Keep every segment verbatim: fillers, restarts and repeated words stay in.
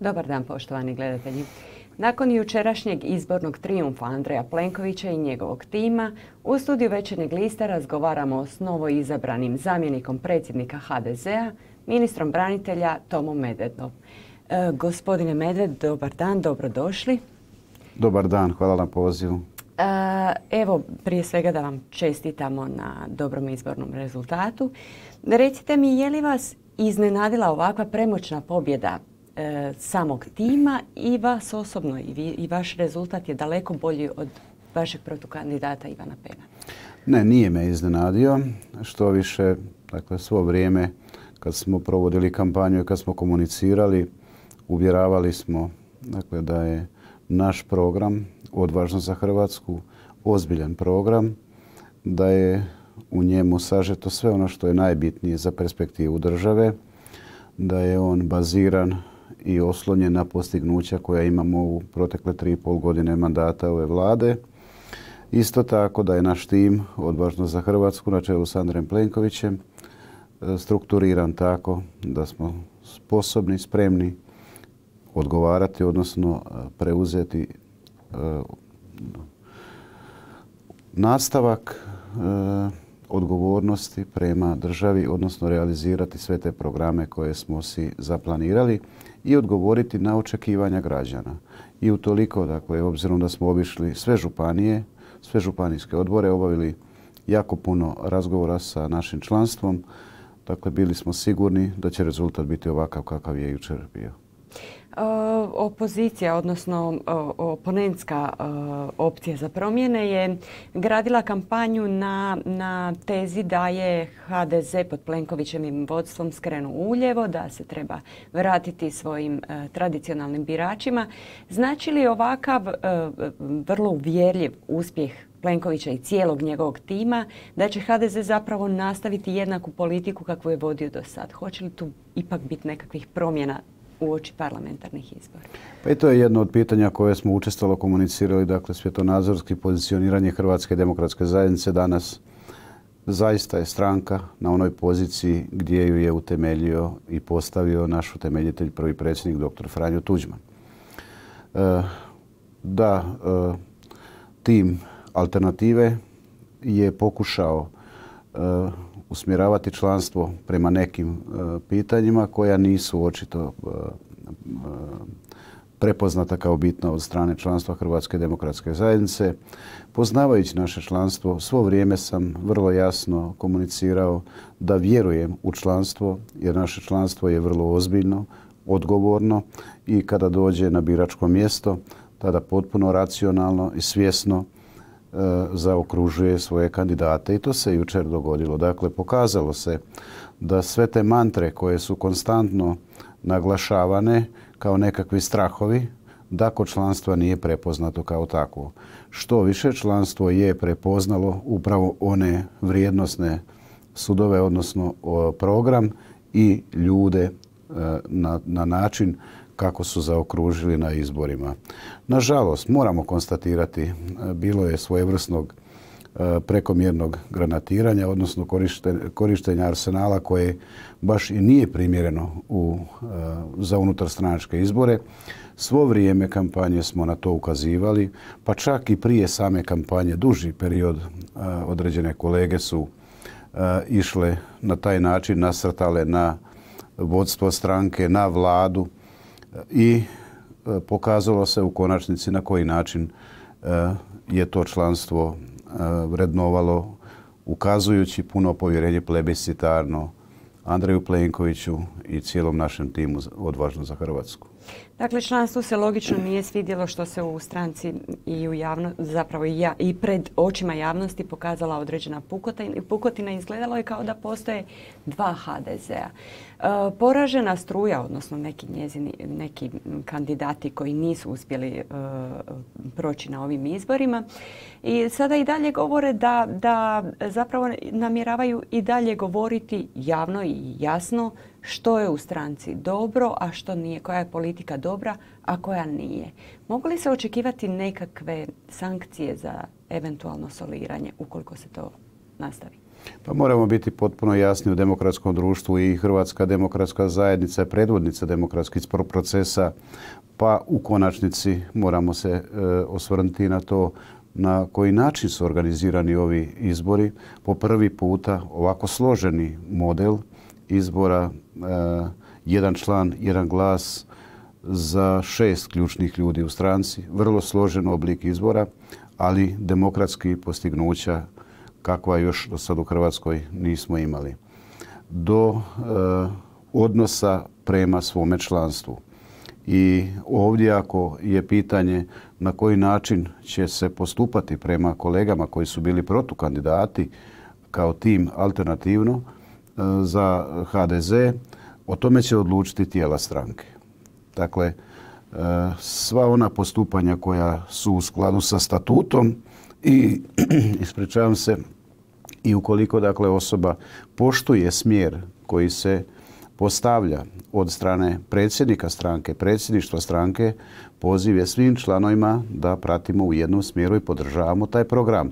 Dobar dan, poštovani gledatelji. Nakon jučerašnjeg izbornog trijumfa Andreja Plenkovića i njegovog tima, u studiju Večernjeg lista razgovaramo s novoizabranim zamjenikom predsjednika ha de zea, ministrom branitelja Tomom Medvedom. E, gospodine Medved, dobar dan, dobrodošli. Dobar dan, hvala na pozivu. E, evo, prije svega da vam čestitamo na dobrom izbornom rezultatu. Recite mi, je li vas iznenadila ovakva premoćna pobjeda e, samog tima i vas osobno i, vi, i vaš rezultat je daleko bolji od vašeg protukandidata Ivana Pena? Ne, nije me iznenadio. Što više, dakle, svo vrijeme kad smo provodili kampanju i kad smo komunicirali, uvjeravali smo, dakle, da je naš program Odvažno za Hrvatsku ozbiljan program, da je u njemu sažeto sve ono što je najbitnije za perspektivu države, da je on baziran i oslonjen na postignuća koja imamo u protekle tri i pol godine mandata ove vlade. Isto tako da je naš tim Odvažno za Hrvatsku na čelu s Andrejem Plenkovićem strukturiran tako da smo sposobni, spremni odgovarati, odnosno preuzeti nastavak odgovornosti prema državi, odnosno realizirati sve te programe koje smo si zaplanirali i odgovoriti na očekivanja građana. I utoliko, dakle, obzirom da smo obišli sve županije, sve županijske odbore, obavili jako puno razgovora sa našim članstvom, dakle, bili smo sigurni da će rezultat biti ovakav kakav je jučer bio. Opozicija, odnosno oponentska opcija za promjene je gradila kampanju na, na tezi da je ha de ze pod Plenkovićevim vodstvom skrenuo uljevo, da se treba vratiti svojim tradicionalnim biračima. Znači li ovakav vrlo uvjerljiv uspjeh Plenkovića i cijelog njegovog tima da će ha de ze zapravo nastaviti jednaku politiku kakvu je vodio do sad? Hoće li tu ipak biti nekakvih promjena uoči parlamentarnih izbora? Pa i to je jedno od pitanja koje smo učestalo komunicirali. Dakle, svjetonazorski pozicioniranje Hrvatske demokratske zajednice danas zaista je stranka na onoj poziciji gdje ju je utemeljio i postavio naš utemeljitelj, prvi predsjednik doktor Franjo Tuđman. E, da, e, tim alternative je pokušao e, usmjeravati članstvo prema nekim uh, pitanjima koja nisu očito uh, uh, prepoznata kao bitna od strane članstva Hrvatske demokratske zajednice. Poznavajući naše članstvo, svo vrijeme sam vrlo jasno komunicirao da vjerujem u članstvo, jer naše članstvo je vrlo ozbiljno, odgovorno i kada dođe na biračko mjesto, tada potpuno racionalno i svjesno zaokružuje svoje kandidate i to se jučer dogodilo. Dakle, pokazalo se da sve te mantre koje su konstantno naglašavane kao nekakvi strahovi, da kod članstva nije prepoznato kao takvo. Što više, članstvo je prepoznalo upravo one vrijednosne sudove, odnosno program i ljude na, na način kako su zaokružili na izborima. Nažalost, moramo konstatirati, bilo je svojevrsnog prekomjernog granatiranja, odnosno korištenja arsenala koje baš i nije primjereno u, za unutarstranačke izbore. Svo vrijeme kampanje smo na to ukazivali, pa čak i prije same kampanje, duži period, određene kolege su išle na taj način, nasrtale na vodstvo stranke, na vladu, i pokazalo se u konačnici na koji način je to članstvo vrednovalo, ukazujući puno povjerenje plebiscitarno Andreju Plenkoviću i cijelom našem timu Odvažno za Hrvatsku. Dakle, članstvu se logično nije svidjelo što se u stranci i u javno, zapravo i, ja, i pred očima javnosti pokazala određena pukotina, pukotina. Izgledalo je kao da postoje dva ha de zea. E, poražena struja, odnosno neki njezini, neki kandidati koji nisu uspjeli e, proći na ovim izborima i sada i dalje govore da, da zapravo namjeravaju i dalje govoriti javno i jasno što je u stranci dobro, a što nije, koja je politika dobra, a koja nije. Mogu li se očekivati nekakve sankcije za eventualno soliranje ukoliko se to nastavi? Pa moramo biti potpuno jasni u demokratskom društvu i Hrvatska demokratska zajednica je predvodnica demokratskih procesa, pa u konačnici moramo se e, osvrnuti na to na koji način su organizirani ovi izbori. Po prvi puta ovako složeni model izbora, e, jedan član, jedan glas za šest ključnih ljudi u stranci, vrlo složen oblik izbora, ali demokratski postignuća kakva još do sad u Hrvatskoj nismo imali. Do e, odnosa prema svome članstvu. I ovdje ako je pitanje na koji način će se postupati prema kolegama koji su bili protukandidati kao tim alternativno e, za ha de ze, o tome će odlučiti tijela stranke. Dakle, e, sva ona postupanja koja su u skladu sa statutom i, ispričavam se, i ukoliko dakle osoba poštuje smjer koji se postavlja od strane predsjednika stranke, predsjedništva stranke, poziv je svim članovima da pratimo u jednom smjeru i podržavamo taj program.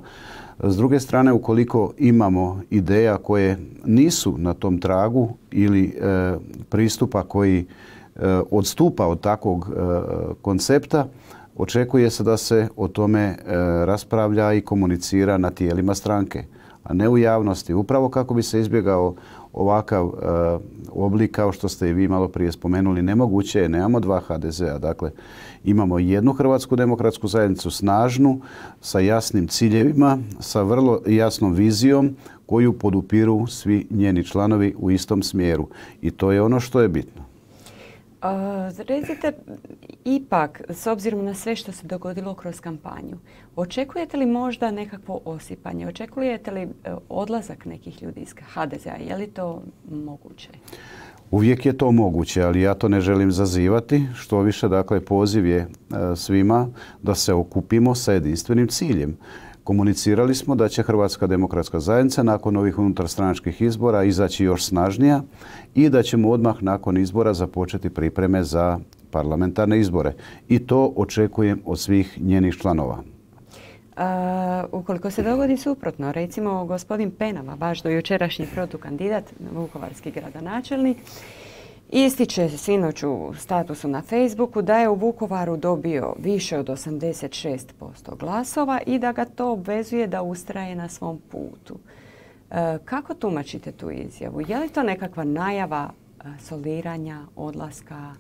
S druge strane, ukoliko imamo ideja koje nisu na tom tragu ili e, pristupa koji e, odstupa od takvog e, koncepta, očekuje se da se o tome e, raspravlja i komunicira na tijelima stranke, a ne u javnosti. Upravo kako bi se izbjegao ovakav e, oblik kao što ste i vi malo prije spomenuli. Nemoguće je, nemamo dva ha de zea. Dakle, imamo jednu Hrvatsku demokratsku zajednicu snažnu, sa jasnim ciljevima, sa vrlo jasnom vizijom koju podupiru svi njeni članovi u istom smjeru. I to je ono što je bitno. Uh, recite, ipak, s obzirom na sve što se dogodilo kroz kampanju, očekujete li možda nekakvo osipanje? Očekujete li odlazak nekih ljudi iz ha de zea? Je li to moguće? Uvijek je to moguće, ali ja to ne želim zazivati. Što više, dakle, poziv je svima da se okupimo sa jedinstvenim ciljem. Komunicirali smo da će Hrvatska demokratska zajednica nakon ovih unutarstranačkih izbora izaći još snažnija i da ćemo odmah nakon izbora započeti pripreme za parlamentarne izbore. I to očekujem od svih njenih članova. A, ukoliko se dogodi suprotno, recimo gospodin Penava, vaš dojučerašnji protukandidat, vukovarski gradonačelnik, ističe sinoć u statusu na Facebooku da je u Vukovaru dobio više od osamdeset šest posto glasova i da ga to obvezuje da ustraje na svom putu. E, kako tumačite tu izjavu? Je li to nekakva najava soliranja, odlaska,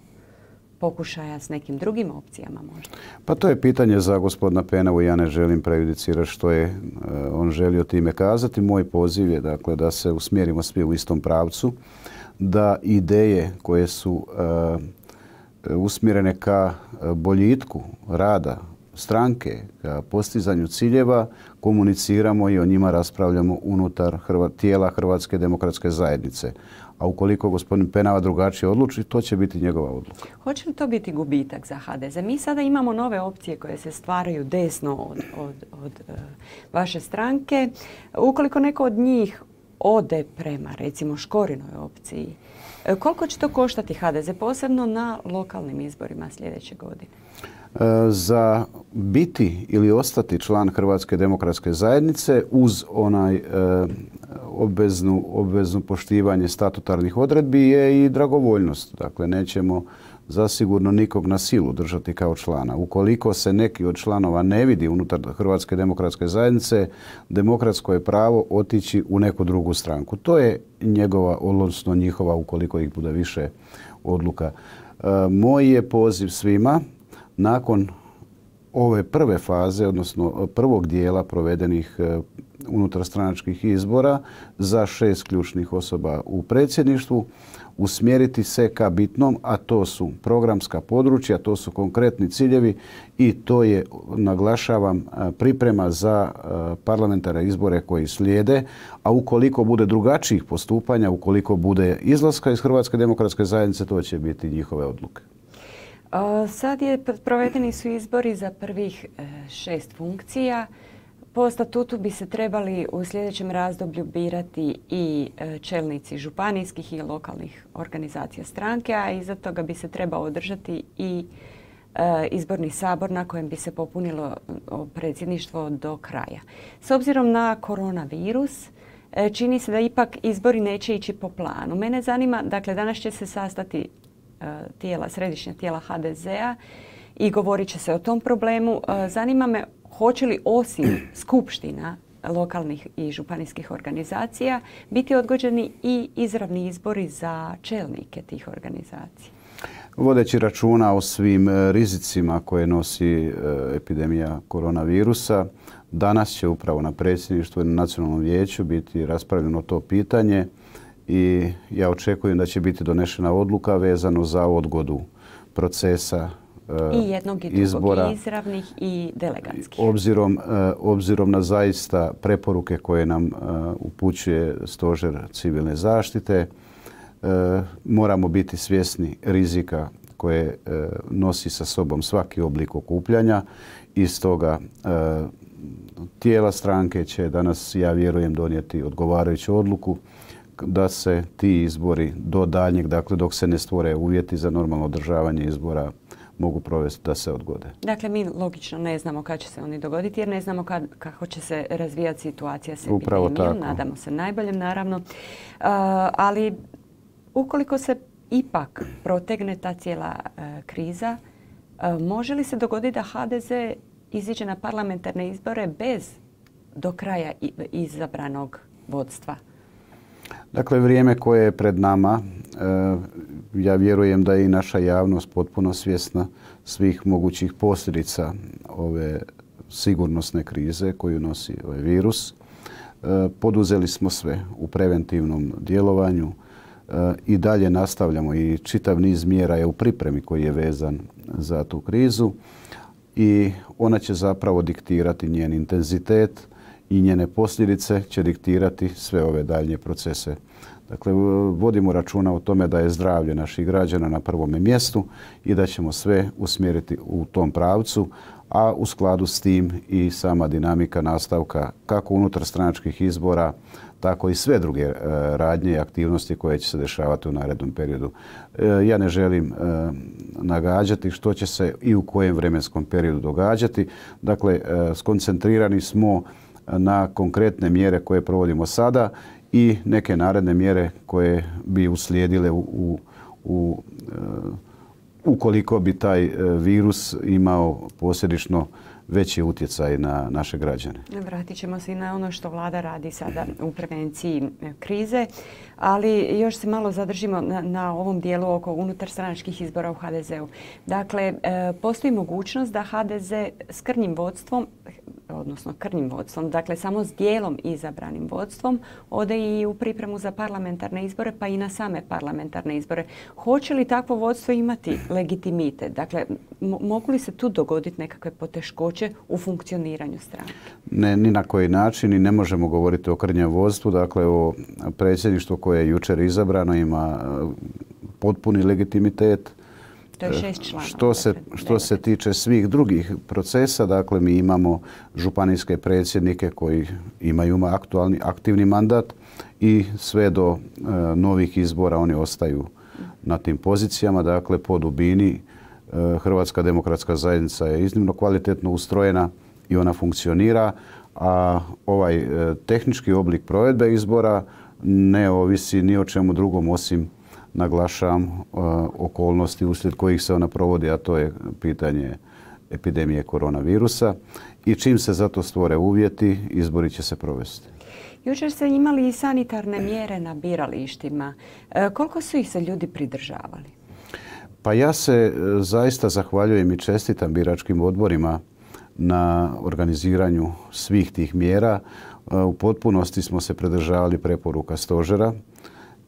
pokušaja s nekim drugim opcijama možda? Pa to je pitanje za gospodina Penavu. Ja ne želim prejudicirati što je uh, on želio time kazati. Moj poziv je dakle, da se usmjerimo svi u istom pravcu, da ideje koje su uh, usmjerene ka boljitku rada stranke, ka postizanju ciljeva, komuniciramo i o njima raspravljamo unutar Hrva, tijela Hrvatske demokratske zajednice. A ukoliko gospodin Penava drugačije odluči, to će biti njegova odluka. Hoće li to biti gubitak za ha de ze? Mi sada imamo nove opcije koje se stvaraju desno od, od, od uh, vaše stranke. Ukoliko neko od njih ode prema, recimo, Škorinoj opciji, koliko će to koštati ha de ze, posebno na lokalnim izborima sljedeće godine? Za biti ili ostati član Hrvatske demokratske zajednice uz onaj e, obveznu, obveznu poštivanje statutarnih odredbi je i dragovoljnost. Dakle, nećemo zasigurno nikog na silu držati kao člana. Ukoliko se neki od članova ne vidi unutar Hrvatske demokratske zajednice, demokratsko je pravo otići u neku drugu stranku. To je njegova, odnosno njihova, ukoliko ih bude više, odluka. E, moj je poziv svima nakon ove prve faze, odnosno prvog dijela provedenih unutarstranačkih izbora za šest ključnih osoba u predsjedništvu, usmjeriti se ka bitnom, a to su programska područja, to su konkretni ciljevi i to je, naglašavam, priprema za parlamentarne izbore koji slijede, a ukoliko bude drugačijih postupanja, ukoliko bude izlaska iz Hrvatske demokratske zajednice, to će biti njihove odluke. Sad je provedeni su izbori za prvih šest funkcija. Po statutu bi se trebali u sljedećem razdoblju birati i čelnici županijskih i lokalnih organizacija stranke, a iza toga bi se trebao održati i izborni sabor na kojem bi se popunilo predsjedništvo do kraja. S obzirom na koronavirus, čini se da ipak izbori neće ići po planu. Mene zanima, dakle danas će se sastati tijela, središnja tijela ha de zea i govorit će se o tom problemu. Zanima me hoće li osim skupština lokalnih i županijskih organizacija biti odgođeni i izravni izbori za čelnike tih organizacija? Vodeći računa o svim rizicima koje nosi epidemija koronavirusa, danas će upravo na predsjedništvu i na Nacionalnom vijeću biti raspravljeno to pitanje i ja očekujem da će biti donešena odluka vezano za odgodu procesa I jednog i drugog, izbora, i izravnih i delegatskih. Obzirom, obzirom na zaista preporuke koje nam upućuje Stožer civilne zaštite, moramo biti svjesni rizika koje nosi sa sobom svaki oblik okupljanja i stoga tijela stranke će danas, ja vjerujem, donijeti odgovarajuću odluku da se ti izbori do daljnjeg, dakle dok se ne stvore uvjeti za normalno održavanje izbora, mogu provesti da se odgode. Dakle, mi logično ne znamo kad će se oni dogoditi jer ne znamo kad, kako će se razvijati situacija s Upravo epidemijom. tako. Nadamo se najboljem, naravno. Uh, ali ukoliko se ipak protegne ta cijela uh, kriza, uh, može li se dogoditi da ha de ze iziđe na parlamentarne izbore bez do kraja izabranog vodstva? Dakle, vrijeme koje je pred nama, ja vjerujem da je i naša javnost potpuno svjesna svih mogućih posljedica ove sigurnosne krize koju nosi ovaj virus. Poduzeli smo sve u preventivnom djelovanju i dalje nastavljamo i čitav niz mjera je u pripremi koji je vezan za tu krizu i ona će zapravo diktirati njen intenzitet i njene posljedice će diktirati sve ove daljnje procese. Dakle, vodimo računa o tome da je zdravlje naših građana na prvome mjestu i da ćemo sve usmjeriti u tom pravcu, a u skladu s tim i sama dinamika nastavka kako unutar stranačkih izbora, tako i sve druge radnje i aktivnosti koje će se dešavati u narednom periodu. Ja ne želim nagađati što će se i u kojem vremenskom periodu događati. Dakle, skoncentrirani smo na konkretne mjere koje provodimo sada i neke naredne mjere koje bi uslijedile u, u, u, ukoliko bi taj virus imao posljedično veći utjecaj na naše građane. Vratit ćemo se i na ono što vlada radi sada u prevenciji krize, ali još se malo zadržimo na, na ovom dijelu oko unutarstranačkih izbora u ha de zeu. Dakle, postoji mogućnost da ha de ze s krnjim vodstvom, odnosno krnjim vodstvom, dakle samo s dijelom izabranim vodstvom, ode i u pripremu za parlamentarne izbore, pa i na same parlamentarne izbore. Hoće li takvo vodstvo imati legitimitet? Dakle, mogu li se tu dogoditi nekakve poteškoće u funkcioniranju stranke? Ne, ni na koji način i ne možemo govoriti o krnjem vodstvu. Dakle, o predsjedništvu koje je jučer izabrano ima potpuni legitimitet. To je šest članova. Što se, što se tiče svih drugih procesa, dakle mi imamo županijske predsjednike koji imaju aktualni, aktivni mandat i sve do e, novih izbora oni ostaju na tim pozicijama. Dakle, po dubini e, Hrvatska demokratska zajednica je iznimno kvalitetno ustrojena i ona funkcionira, a ovaj e, tehnički oblik provedbe izbora ne ovisi ni o čemu drugom osim naglašavam uh, okolnosti uslijed kojih se ona provodi, a to je pitanje epidemije koronavirusa. I čim se za to stvore uvjeti, izbori će se provesti. Jučer ste imali i sanitarne mjere na biralištima. E, koliko su ih se ljudi pridržavali? Pa ja se zaista zahvaljujem i čestitam biračkim odborima na organiziranju svih tih mjera. U potpunosti smo se pridržavali preporuka stožera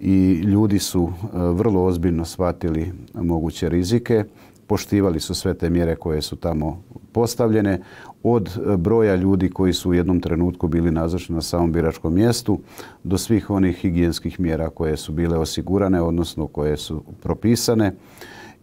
i ljudi su vrlo ozbiljno shvatili moguće rizike, poštivali su sve te mjere koje su tamo postavljene, od broja ljudi koji su u jednom trenutku bili nazočni na samom biračkom mjestu do svih onih higijenskih mjera koje su bile osigurane, odnosno koje su propisane.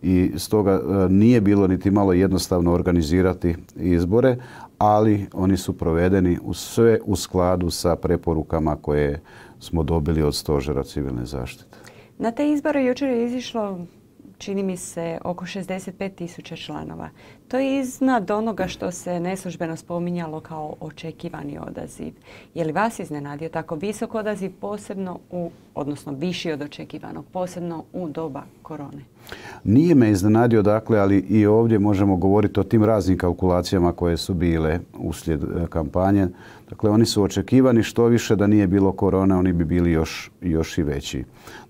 I stoga nije bilo niti malo jednostavno organizirati izbore, ali oni su provedeni u sve u skladu sa preporukama koje smo dobili od Stožera civilne zaštite. Na te izbore jučer je izišlo čini mi se, oko šezdeset pet tisuća članova. To je iznad onoga što se neslužbeno spominjalo kao očekivani odaziv. Je li vas iznenadio tako visok odaziv, posebno u, odnosno viši od očekivanog, posebno u doba korone? Nije me iznenadio, dakle, ali i ovdje možemo govoriti o tim raznim kalkulacijama koje su bile uslijed kampanje. Dakle, oni su očekivani, što više da nije bilo korone, oni bi bili još, još i veći.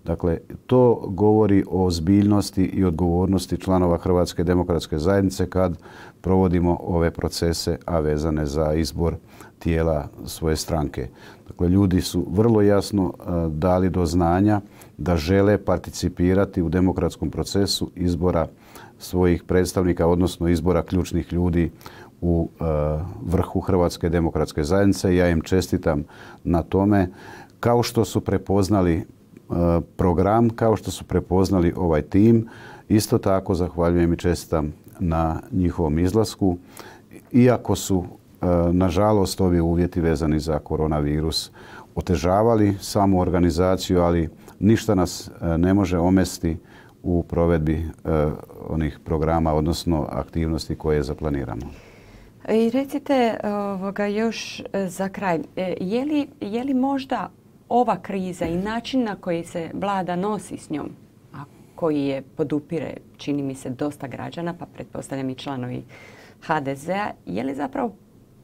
Dakle, to govori o ozbiljnosti i odgovornosti članova Hrvatske demokratske zajednice kad provodimo ove procese, a vezane za izbor tijela svoje stranke. Dakle, ljudi su vrlo jasno dali do znanja da žele participirati u demokratskom procesu izbora svojih predstavnika, odnosno izbora ključnih ljudi u vrhu Hrvatske demokratske zajednice. Ja im čestitam na tome, kao što su prepoznali program, kao što su prepoznali ovaj tim. Isto tako zahvaljujem i čestitam na njihovom izlasku. Iako su, nažalost, ovi uvjeti vezani za koronavirus otežavali samu organizaciju, ali ništa nas ne može omesti u provedbi onih programa, odnosno aktivnosti koje zaplaniramo. I recite ovoga, još za kraj, je li, je li možda ova kriza i način na koji se vlada nosi s njom, a koji je podupire, čini mi se, dosta građana, pa pretpostavljam i članovi ha de zea, je li zapravo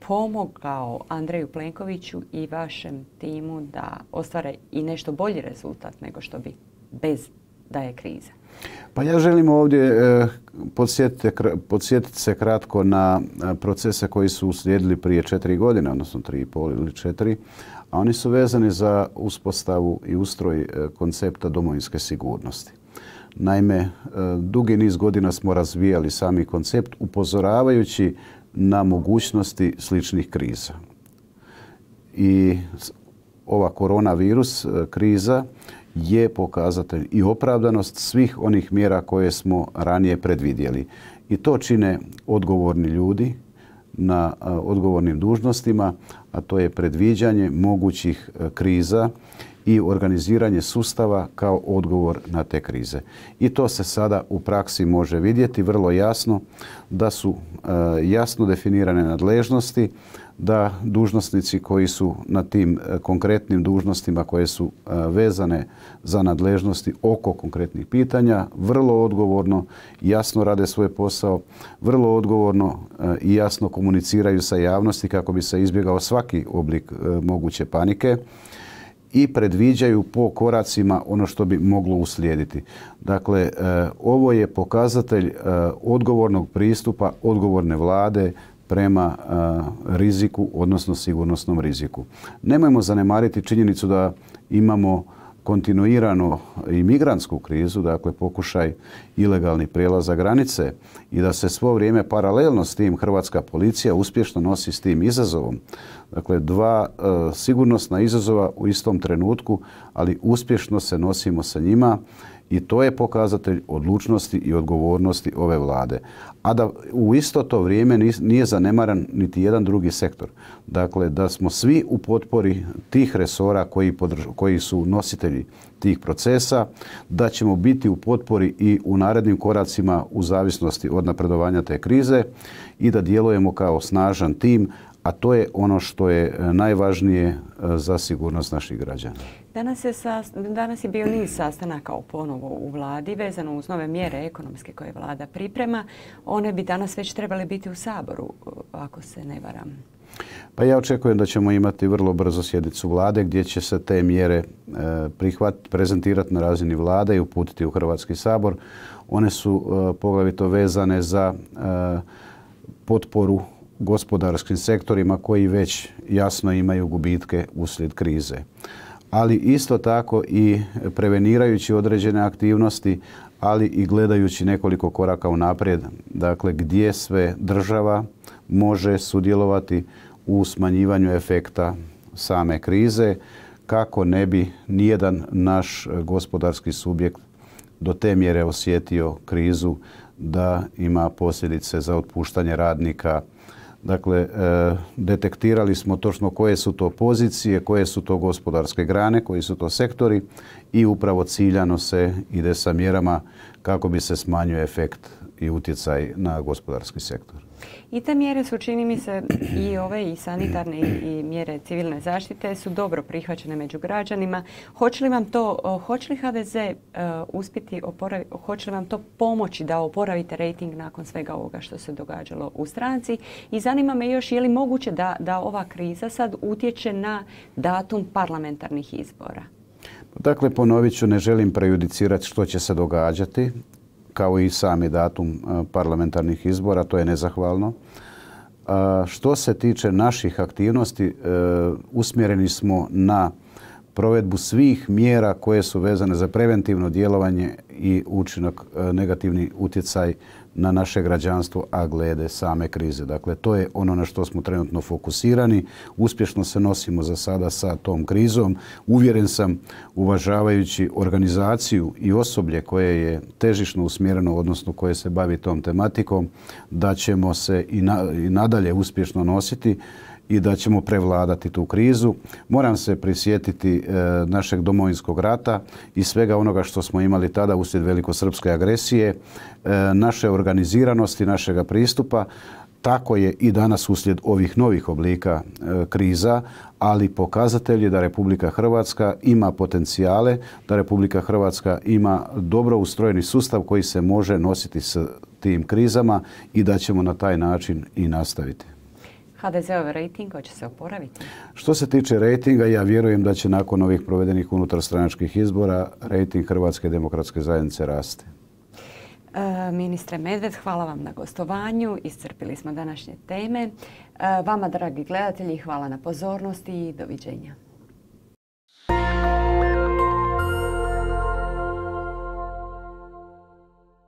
pomogao Andreju Plenkoviću i vašem timu da ostvare i nešto bolji rezultat nego što bi bez da je kriza? Pa ja želim ovdje eh, podsjetiti, podsjetiti se kratko na procese koji su uslijedili prije četiri godine, odnosno tri i pol ili četiri, a oni su vezani za uspostavu i ustroj eh, koncepta domovinske sigurnosti. Naime, eh, dugi niz godina smo razvijali sami koncept upozoravajući na mogućnosti sličnih kriza. I ova koronavirus eh, kriza je pokazatelj i opravdanost svih onih mjera koje smo ranije predvidjeli. I to čine odgovorni ljudi na odgovornim dužnostima, a to je predviđanje mogućih kriza i organiziranje sustava kao odgovor na te krize. I to se sada u praksi može vidjeti vrlo jasno, da su jasno definirane nadležnosti, da dužnosnici koji su na tim konkretnim dužnostima koje su vezane za nadležnosti oko konkretnih pitanja vrlo odgovorno i jasno rade svoj posao, vrlo odgovorno i jasno komuniciraju sa javnosti kako bi se izbjegao svaki oblik moguće panike i predviđaju po koracima ono što bi moglo uslijediti. Dakle, ovo je pokazatelj odgovornog pristupa, odgovorne vlade prema riziku, odnosno sigurnosnom riziku. Nemojmo zanemariti činjenicu da imamo kontinuirano i migrantsku krizu, dakle pokušaj ilegalnih prijelaza granice i da se svo vrijeme paralelno s tim hrvatska policija uspješno nosi s tim izazovom. Dakle, dva e, sigurnosna izazova u istom trenutku, ali uspješno se nosimo sa njima i to je pokazatelj odlučnosti i odgovornosti ove vlade. A da u isto to vrijeme nije zanemaran niti jedan drugi sektor. Dakle, da smo svi u potpori tih resora koji, podrž- koji su nositelji tih procesa, da ćemo biti u potpori i u narednim koracima u zavisnosti od napredovanja te krize i da djelujemo kao snažan tim, a to je ono što je najvažnije za sigurnost naših građana. Danas je, sa, danas je bio niz sastanaka ponovo u vladi vezano uz nove mjere ekonomske koje vlada priprema. One bi danas već trebale biti u Saboru, ako se ne varam. Pa ja očekujem da ćemo imati vrlo brzo sjednicu vlade gdje će se te mjere prihvatiti, prezentirati na razini vlade i uputiti u Hrvatski sabor. One su poglavito vezane za potporu gospodarskim sektorima koji već jasno imaju gubitke uslijed krize. Ali isto tako i prevenirajući određene aktivnosti, ali i gledajući nekoliko koraka unaprijed, dakle gdje sve država može sudjelovati u smanjivanju efekta same krize, kako ne bi nijedan naš gospodarski subjekt do te mjere osjetio krizu da ima posljedice za otpuštanje radnika, Dakle, e, detektirali smo točno koje su to pozicije, koje su to gospodarske grane, koji su to sektori i upravo ciljano se ide sa mjerama kako bi se smanjio efekt i utjecaj na gospodarski sektor. I te mjere su, čini mi se, i ove i sanitarne i, i mjere civilne zaštite su dobro prihvaćene među građanima. Hoće li vam to, hoće li H D Z uh, uspjeti oporaviti, hoće li vam to pomoći da oporavite rejting nakon svega ovoga što se događalo u stranci? I zanima me još, je li moguće da, da ova kriza sad utječe na datum parlamentarnih izbora? Dakle, ponovit ću, ne želim prejudicirati što će se događati, kao i sami datum parlamentarnih izbora, to je nezahvalno. Što se tiče naših aktivnosti, usmjereni smo na provedbu svih mjera koje su vezane za preventivno djelovanje i učinak, negativni utjecaj na naše građanstvo, a glede same krize. Dakle, to je ono na što smo trenutno fokusirani. Uspješno se nosimo za sada sa tom krizom. Uvjeren sam, uvažavajući organizaciju i osoblje koje je težišno usmjereno, odnosno koje se bavi tom tematikom, da ćemo se i, na, i nadalje uspješno nositi i da ćemo prevladati tu krizu. Moram se prisjetiti e, našeg Domovinskog rata i svega onoga što smo imali tada uslijed velikosrpske agresije, e, naše organiziranosti, našega pristupa. Tako je i danas uslijed ovih novih oblika e, kriza, ali pokazatelj je da Republika Hrvatska ima potencijale, da Republika Hrvatska ima dobro ustrojeni sustav koji se može nositi s tim krizama i da ćemo na taj način i nastaviti. H D Z-ov rejting hoće se oporaviti? Što se tiče rejtinga, ja vjerujem da će nakon ovih provedenih unutarstranačkih izbora rejting Hrvatske demokratske zajednice rasti. E, ministre Medved, hvala vam na gostovanju. Iscrpili smo današnje teme. E, vama, dragi gledatelji, hvala na pozornosti i doviđenja.